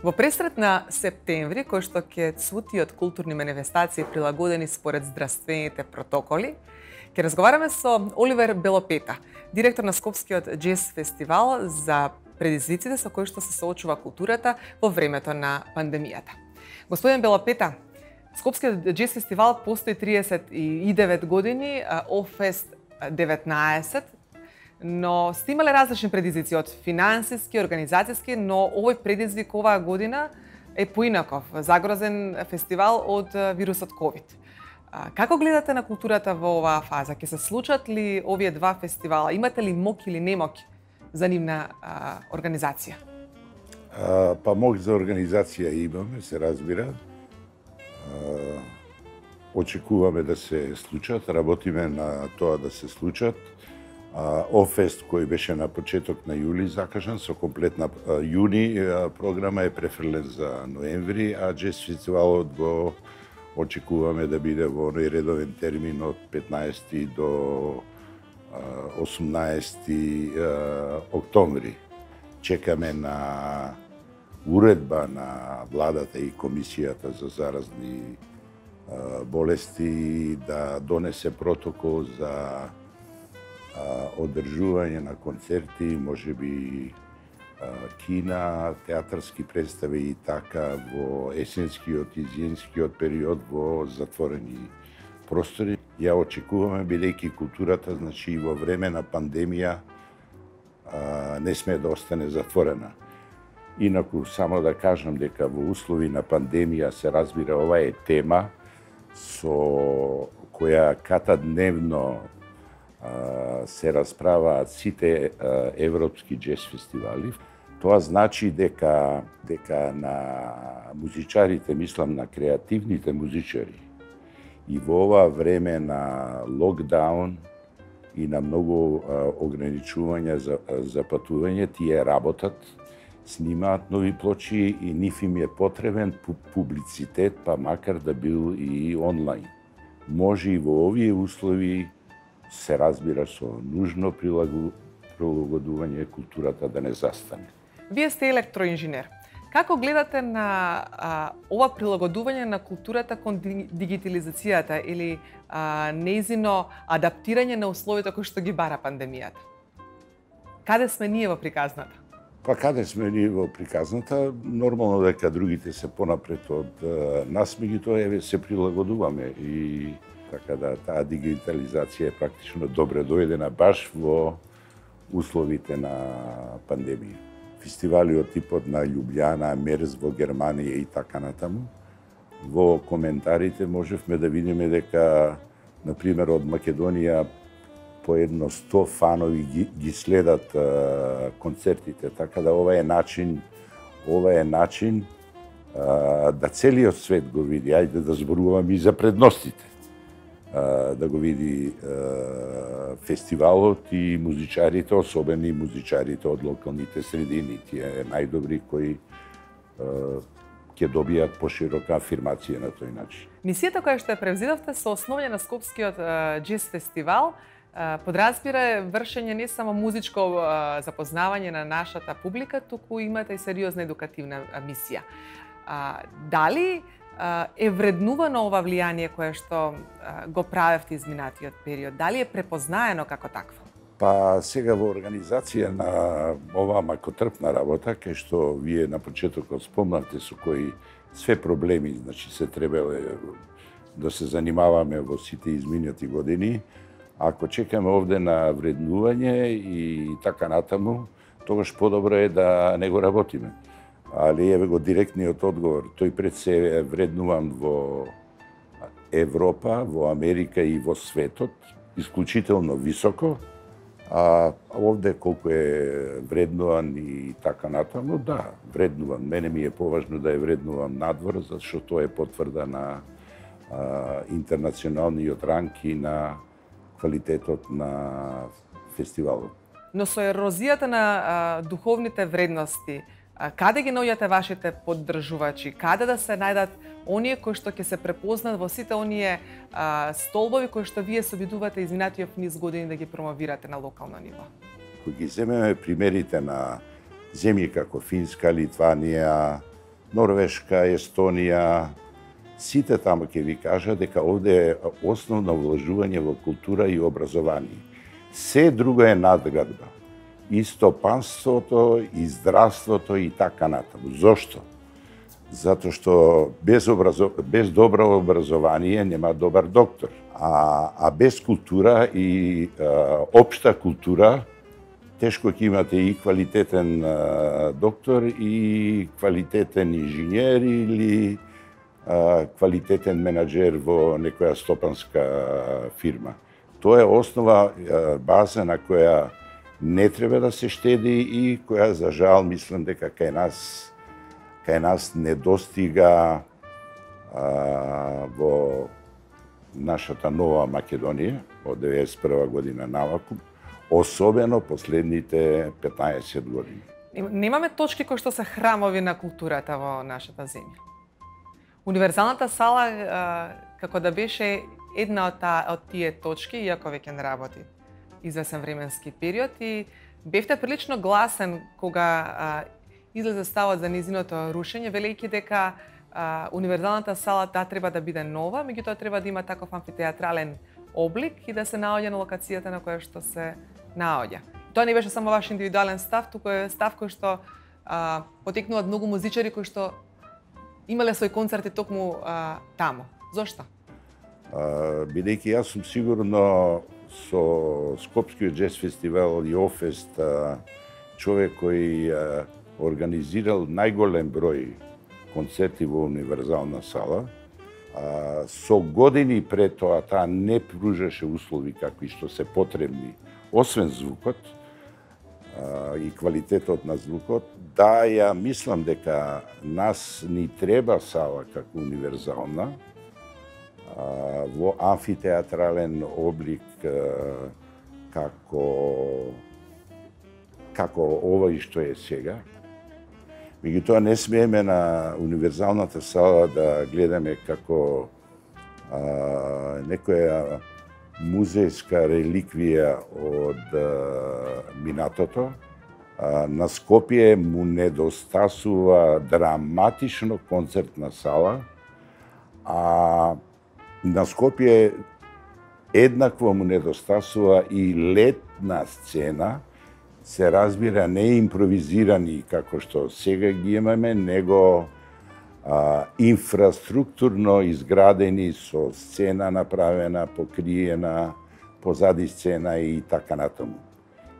Во пресрет на септември, кој што ќе цвути од културни манифестации прилагодени според здравствените протоколи, ќе разговараме со Оливер Белопета, директор на Скопскиот џез фестивал, за предизвиците со кои што се соочува културата во времето на пандемијата. Господин Белопета, Скопскиот џез фестивал постои 39 години, Офест 19, но сте имале различни предизвици од финансиски, организацијски, но овој предизвик оваа година е поинаков, загрозен фестивал од вирусот COVID. Како гледате на културата во оваа фаза? Ќе се случат ли овие два фестивала? Имате ли мок или немок за нивна организација? Па мок за организација имаме, се разбира. Очекуваме да се случат, работиме на тоа да се случат. Офест кој беше на почеток на јули закажан со комплетна јуни програма е префрлен за ноември, а џез фестивалот го очекуваме да биде во оној редовен термин од 15 до 18 октомври. Чекаме на уредба на владата и комисијата за заразни болести да донесе протокол за одржување на концерти, можеби кина, театарски представи и така во есенскиот и зимскиот период во затворени простори. Ја очекуваме, бидејќи културата, значи во време на пандемија не сме да остане затворена. Инаку, само да кажам дека во услови на пандемија се разбира ова е тема со која катадневно се расправаат сите европски џез фестивали. Тоа значи дека на музичарите, мислам на креативните музичари, и во ова време на локдаун и на многу ограничувања за патување, тие работат, снимаат нови плочи и нив им е потребен публицитет, па макар да бил и онлайн. Може и во овие услови се разбира со нужно прилагодување културата да не застане. Вие сте електроинженер. Како гледате на ова прилагодување на културата кон дигитализацијата или нејзино адаптирање на условията кои што ги бара пандемијата? Каде сме ние во приказната? Па каде сме ние во приказната? Нормално дека другите се понапред од нас, меѓутоа се прилагодуваме и така да таа дигитализација е практично добре дојдена баш во условите на пандемија. Фестивали од типот на Љубљана, Мерз во Германија и така натаму. Во коментарите можевме да видиме дека, например, од Македонија по едно 100 фанови ги следат концертите, така да ова е начин да целиот свет го види. Ајде да зборуваме и за предностите. Да го види фестивалот и музичарите, особено и музичарите од локалните средини, тие најдобри кои ќе добијат поширока афирмација на тој начин. Мисијата која што ја превзидовте со основање на Скопскиот џез фестивал подразбира вршење не само музичко запознавање на нашата публика, туку имате и сериозна едукативна мисија. Дали е вреднувано ова влијание кое што го правевте изминатиот период? Дали е препознаено како такво? Па сега во организација на оваа макотрпна работа, кај што вие на почетокот спомнавте со кои све проблеми, значи се требале да се занимаваме во сите изминати години, ако чекаме овде на вреднување и така натаму, тогаш подобро е да не го работиме. Али еве го директниот одговор. Тој пред се е вреднуван во Европа, во Америка и во светот, исклучително високо, а овде колку е вреднуван и така натаму, да, вреднуван. Мене ми е поважно да е вреднуван надвор, зашто тоа е потврда на интернационалниот ранг и на квалитетот на фестивалот. Но со ерозијата на духовните вредности, Каде ги наоѓате вашите поддржувачи? Каде да се најдат оние кои што ќе се препознат во сите оние столбови кои што вие се обидувате изминатиот низ години да ги промовирате на локално ниво? Кога ги земеме примерите на земји како Финска, Литванија, Норвешка, Естонија, сите таму ќе ви кажат дека овде е основно вложување во култура и образование. Се друго е надградба. И стопанството, и здравството, и така натаму. Зошто? Затоа што без добро образование нема добар доктор. А без култура и општа култура, тешко ќе имате и квалитетен доктор, и квалитетен инженер, или квалитетен менаџер во некоја стопанска фирма. Тоа е основа, база на која не треба да се штеди и која, за жал, мислам дека кај нас недостига во нашата нова Македонија од 91 година наваку, особено последните 15 години. Немаме точки кои што се храмови на културата во нашата земја. Универзалната сала како да беше една од тие точки, иако веќе не работи извесен временски период, и бевте прилично гласен кога излезе ставот за низиното рушење, велејќи дека универзалната сала треба да биде нова, меѓутоа треба да има таков амфитеатрален облик и да се наоѓа на локацијата на која што се наоѓа. Тоа не беше само ваш индивидуален став, туку е став кој што потекнуваат многу музичари кои што имале свој концерти токму таму. Зошто? Бидејќи јас сум сигурно со Скопскиот джез фестивал и Офест човек кој организирал најголем број концерти во универзална сала. Со години пред тоа таа не пружаше услови какви што се потребни, освен звукот и квалитетот на звукот. Да, ја мислам дека нас ни треба сала како универзална, во амфитеатрален облик како овој што е сега. Меѓутоа не смееме на универзалната сала да гледаме како некоја музејска реликвија од минатото. На Скопје му недостасува драматично концертна сала, а на Скопје еднакво му недостасува и летна сцена, се разбира не импровизирани како што сега ги имаме, него инфраструктурно изградени со сцена направена, покриена, позади сцена и така натаму.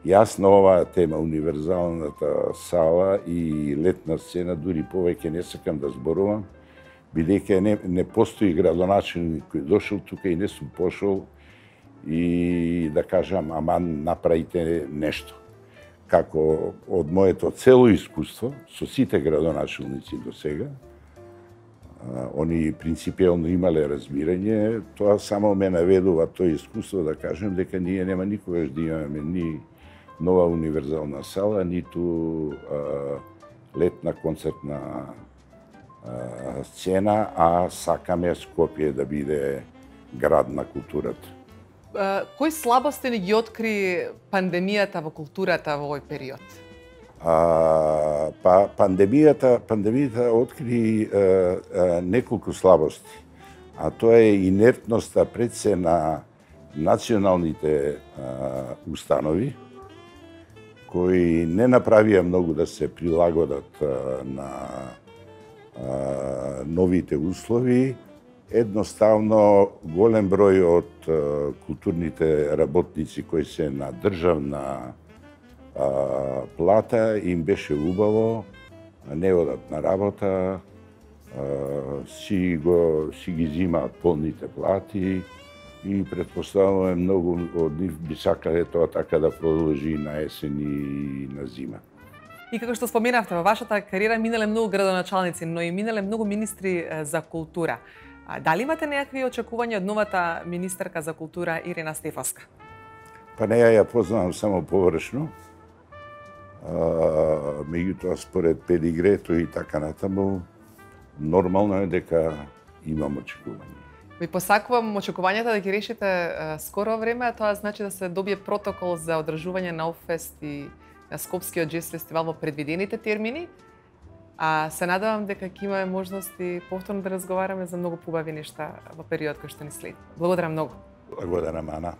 Јас на оваа тема, универзалната сала и летна сцена, дури повеќе не сакам да зборувам, бидејќи не постои градоначелник кој дошол тука и не сум пошол и да кажам, аман, направите нешто. Како од моето цело искуство, со сите градоначелници до сега, они принципијално имале разбирање, тоа само ме наведува тој искуство да кажем дека ние нема никогаш да имаме ни нова универзална сала, ниту летна концертна сцена, а сакаме Скопје да биде град на културата. Кои слабости ни ги откри пандемијата во културата во овој период? Пандемијата откри неколку слабости, а тоа е инертноста пред се на националните установи, кои не направија многу да се прилагодат на новите услови. Едноставно, голем број од културните работници кои се на државна плата им беше убаво, не одат на работа, си ги зимаат полните плати и предпоставуваме многу од нив би сакале тоа така да продолжи на есен и на зима. И како што споменавте, во вашата кариера минале многу градоначалници, но и минале многу министри за култура. Дали имате некакви очекувања од новата министерка за култура Ирена Стефовска? Па неја ја познавам само површно. Меѓутоа, според педигрето и така натаму, нормално е дека имам очекување. Ви посакувам очекувањата да ги решите скоро време, а тоа значи да се добие протокол за одржување на Оффест и на Скопскиот джез фестивал во предвидените термини. А се надевам дека ќе имаме можности повторно да разговараме за многу побави нешта во период кој што ни следи. Благодарам многу. Благодарам, Ана.